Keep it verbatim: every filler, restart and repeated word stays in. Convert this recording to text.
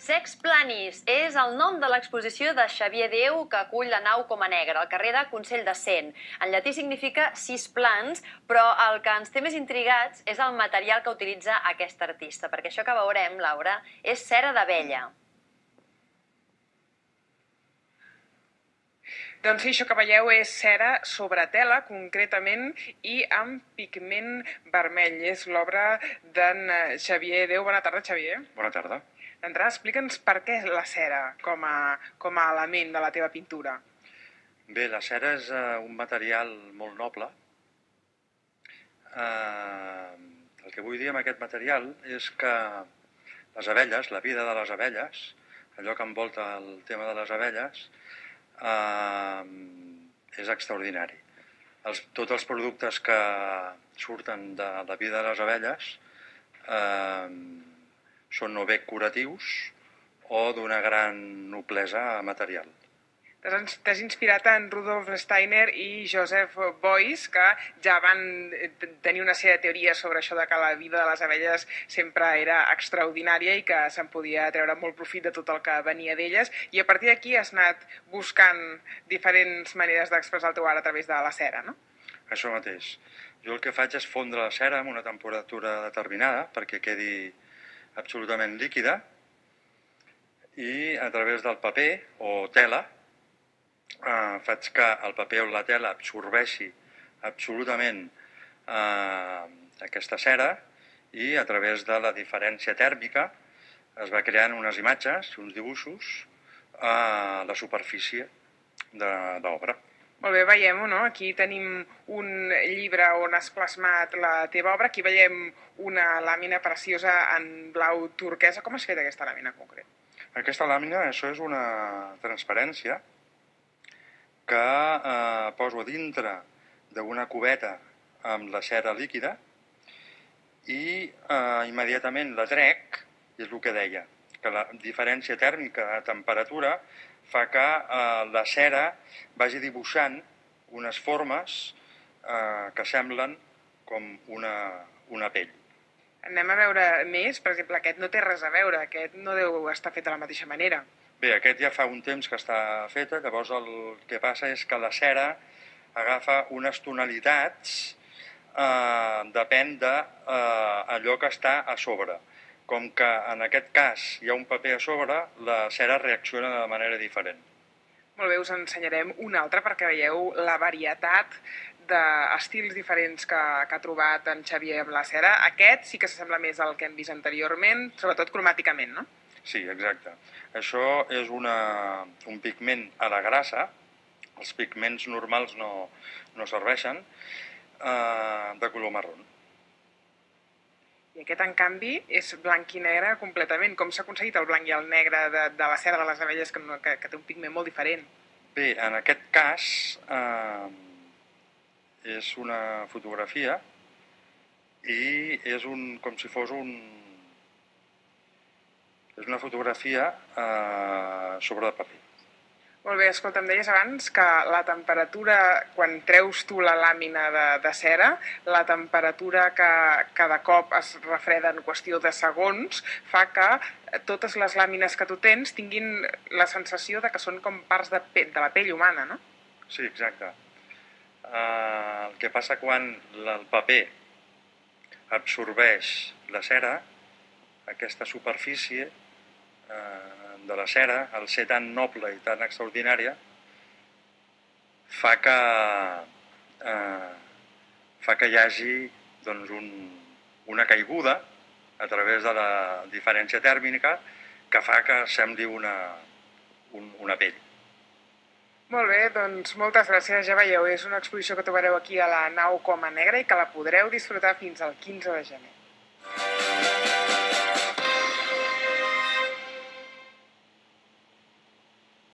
Sex Planis és el nom de l'exposició de Xavier Déu que acull la nau Coma Negra, al carrer de Consell de Cent. En llatí significa sis plans, però el que ens té més intrigats és el material que utilitza aquest artista, perquè això que veurem, Laura, és cera d'abella. Doncs sí, això que veieu és cera sobre tela, concretament, i amb pigment vermell. És l'obra d'en Xavier Déu. Bona tarda, Xavier. Bona tarda. D'entrada, explica'ns per què la cera com a, com a element de la teva pintura. Bé, la cera és uh, un material molt noble. Uh, el que vull dir amb aquest material és que les abelles, la vida de les abelles, allò que envolta el tema de les abelles, uh, és extraordinari. Els, tots els productes que surten de la vida de les abelles uh, són o bé curatius o d'una gran noblesa material. T'has inspirat en Rudolf Steiner i Joseph Beuys, que ja van tenir una sèrie de teories sobre això de que la vida de les abelles sempre era extraordinària i que se'n podia treure molt profit de tot el que venia d'elles, i a partir d'aquí has anat buscant diferents maneres d'expressar el teu art a través de la cera, no? Això mateix. Jo el que faig és fondre la cera amb una temperatura determinada perquè quedi absolutament líquida, i a través del paper o tela eh, faig que el paper o la tela absorbeixi absolutament eh, aquesta cera, i a través de la diferència tèrmica es va creant unes imatges, uns dibuixos a la superfície de l'obra. Molt bé, veiem-ho, no? Aquí tenim un llibre on has plasmat la teva obra. Aquí veiem una làmina preciosa en blau turquesa. Com has fet aquesta làmina en concret? Aquesta làmina, això és una transparència que eh, poso a dintre d'una cubeta amb la cera líquida i eh, immediatament la trec, i és el que deia, que la diferència tèrmica de temperatura fa que eh, la cera vagi dibuixant unes formes eh, que semblen com una, una pell. Anem a veure més. Per exemple, aquest no té res a veure, aquest no deu estar fet de la mateixa manera. Bé, aquest ja fa un temps que està feta, llavors el que passa és que la cera agafa unes tonalitats, eh, depèn d'allò eh, que està a sobre. Com que en aquest cas hi ha un paper a sobre, la cera reacciona de manera diferent. Molt bé, us ensenyarem un altre perquè veieu la varietat d'estils diferents que, que ha trobat en Xavier amb la cera. Aquest sí que s'assembla més al que hem vist anteriorment, sobretot cromàticament, no? Sí, exacte. Això és una, un pigment a la grassa, els pigments normals no, no serveixen, eh, de color marró. I aquest, en canvi, és blanc i negre completament. Com s'ha aconseguit el blanc i el negre de, de la cera de les abelles, que, no, que, que té un pigment molt diferent? Bé, en aquest cas eh, és una fotografia i és un, com si fos un... és una fotografia eh, sobre el paper. Molt bé, escolta, em deies abans que la temperatura, quan treus tu la làmina de, de cera, la temperatura que, que de cop es refreda en qüestió de segons, fa que totes les làmines que tu tens tinguin la sensació de que són com parts de, de la pell humana, no? Sí, exacte. Uh, el que passa quan el paper absorbeix la cera, aquesta superfície uh, de la cera, al ser tan noble i tan extraordinària, fa que, eh, fa que hi hagi doncs, un, una caiguda a través de la diferència tèrmica que fa que sembli una, un, una pell. Molt bé, doncs moltes gràcies. Ja veieu, és una exposició que trobareu aquí a la nau Coma Negra i que la podreu disfrutar fins al quinze de gener.